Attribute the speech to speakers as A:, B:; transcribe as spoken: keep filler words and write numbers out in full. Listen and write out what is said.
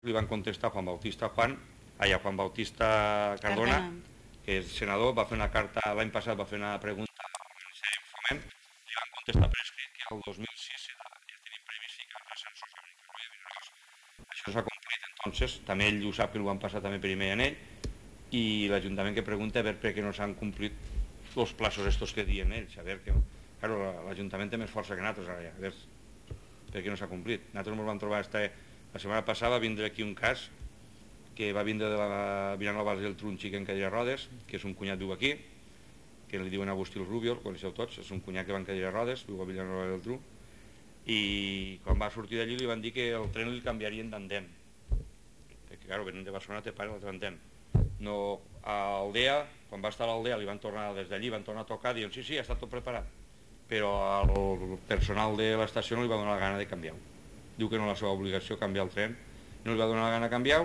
A: Li van contestar Juan Bautista Juan, allà Juan Bautista Cardona, que és senador, va fer una carta, l'any passat va fer una pregunta al Ministeri de Foment, li van contestar per escrit que el dos mil sis ja tenim previst ficar ascensors a Benicarló. Això s'ha complit, entonces, també ell ho sap que ho van passar també per email a ell, i l'Ajuntament que pregunta a veure per què no s'han complit els plaços estos que diuen ells, a veure que... Claro, l'Ajuntament té més força que nosaltres ara ja, a veure per què no s'ha complit. Nosaltres ens vam trobar esta... La setmana passada va vindre aquí un cas que va vindre de la Vilanova del Tru, un xic en cadira de rodes, que és un cunyat viu aquí, que li diuen Agustí el Rubio, el coneixeu tots, és un cunyat que va en cadira de rodes, viu a Vilanova del Tru, i quan va sortir d'allí li van dir que el tren li canviarien d'andén, perquè, clar, venint de Barcelona te paren l'altre andén. No, a Aldea, quan va estar a l'Aldea, li van tornar des d'allí, van tornar a tocar, diuen, sí, sí, ja està tot preparat, però al personal de l'estació no li va donar la gana de canviar-ho. Diu que no és la seva obligació canviar el tren, no li va donar la gana de canviar-ho.